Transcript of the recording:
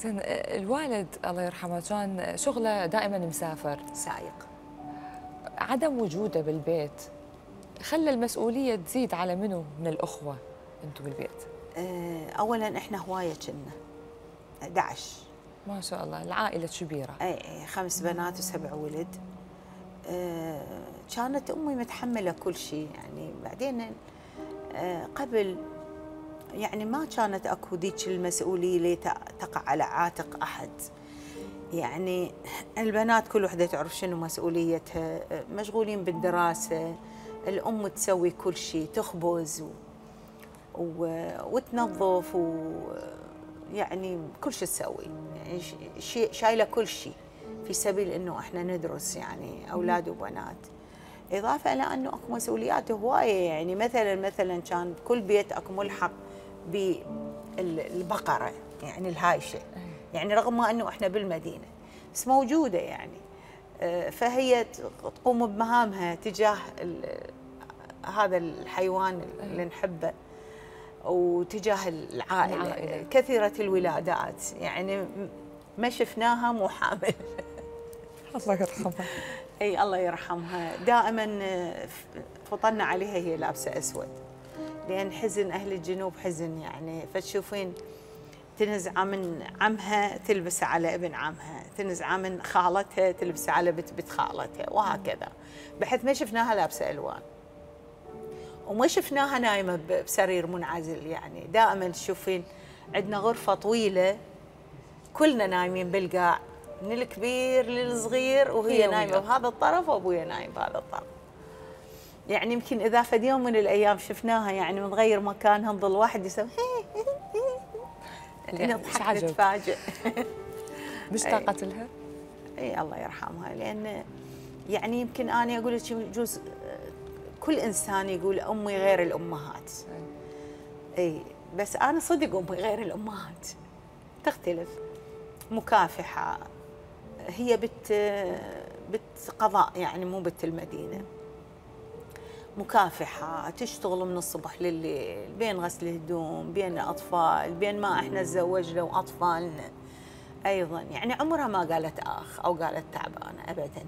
زين، الوالد الله يرحمه كان شغله دائما مسافر سايق. عدم وجوده بالبيت خلى المسؤوليه تزيد على منو من الاخوه انتم بالبيت؟ اولا احنا هوايه كنا 11. ما شاء الله، العائله كبيره. اي 5 بنات و7 ولد. كانت امي متحمله كل شيء يعني. بعدين قبل يعني ما كانت اكو ذيك المسؤوليه اللي تقع على عاتق احد. يعني البنات كل وحده تعرف شنو مسؤوليتها، مشغولين بالدراسه، الام تسوي كل شيء، تخبز وتنظف يعني كل شيء تسوي، يعني شايله كل شيء في سبيل انه احنا ندرس يعني اولاد وبنات. اضافه الى انه اكو مسؤوليات هوايه، يعني مثلا كان كل بيت اكو ملحق بالبقره يعني الهايشه، يعني رغم ما انه احنا بالمدينه بس موجوده يعني. فهي تقوم بمهامها تجاه هذا الحيوان اللي نحبه وتجاه العائله. كثيره الولادات يعني ما شفناها مو حامل. الله يرحمها. اي الله يرحمها. دائما فطنا عليها هي لابسه اسود، لان حزن اهل الجنوب حزن يعني. فتشوفين تنزعه من عمها تلبسه على ابن عمها، تنزعه من خالتها تلبسه على بنت خالتها، وهكذا، بحيث ما شفناها لابسه الوان وما شفناها نايمه بسرير منعزل. يعني دائما تشوفين عندنا غرفه طويله كلنا نايمين بالقاع، من الكبير للصغير، وهي نايمه بهذا الطرف وابويا نايم بهذا الطرف. يعني يمكن اذا فد يوم من الايام شفناها يعني متغير مكانها نظل واحد يسوي نضحك نتفاجئ. مشتاقه لها؟ اي الله يرحمها. لان يعني يمكن انا اقول لك يجوز كل انسان يقول امي غير الامهات. اي بس انا صدق امي غير الامهات، تختلف. مكافحه، هي بت قضاء يعني مو بنت المدينه. مكافحه، تشتغل من الصبح لليل، بين غسل الهدوم، بين الاطفال، بين ما احنا تزوجنا واطفالنا ايضا. يعني عمرها ما قالت اخ او قالت تعبانه ابدا.